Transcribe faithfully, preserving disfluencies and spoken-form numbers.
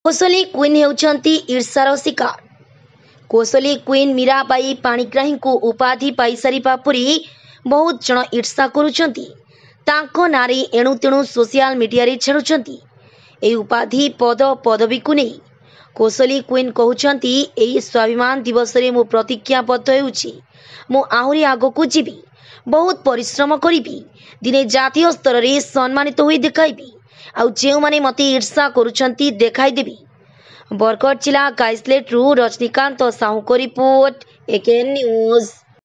Kosli queen ହେଉଛନ୍ତି ଈର୍ଷାର ଶିକାର। Kosli queen Mirabai ପାଣିଗ୍ରାହୀଙ୍କୁ ଉପାଧି ପାଇସାରିବା ପରେ ବହୁତ ଜଣ ଈର୍ଷା କରୁଛନ୍ତି। ତାଙ୍କ ନାଁରେ ଏଣୁତେଣୁ ସୋସିଆଲ ମିଡିଆରେ ଛାଡୁଛନ୍ତି। ଏହି ଉପାଧି, ପଦ ପଦବୀକୁ ନେଇ କୋଶଲି କୁଇନ୍ କହୁଛନ୍ତି, ଏହି ସ୍ୱାଭିମାନ ଦିବସରେ ମୁଁ ପ୍ରତିଜ୍ଞାବଦ୍ଧ ହେଉଛି, ମୁଁ ଆହୁରି ଆଗକୁ ଯିବି, ବହୁତ ପରିଶ୍ରମ କରିବି, ଦିନେ ଜାତୀୟ ସ୍ତରରେ ସମ୍ମାନିତ ହୋଇ ଦେଖାଇବି, ଆଉ ଯେଉଁମାନେ ମୋତେ ଈର୍ଷା କରୁଛନ୍ତି ଦେଖାଇଦେବି। ବରଗଡ଼ ଜିଲ୍ଲା ଗାଇସିଲେଟରୁ ରଜନୀକାନ୍ତ ସାହୁଙ୍କ ରିପୋର୍ଟ, ଏକେଏନ୍ ନ୍ୟୁଜ୍।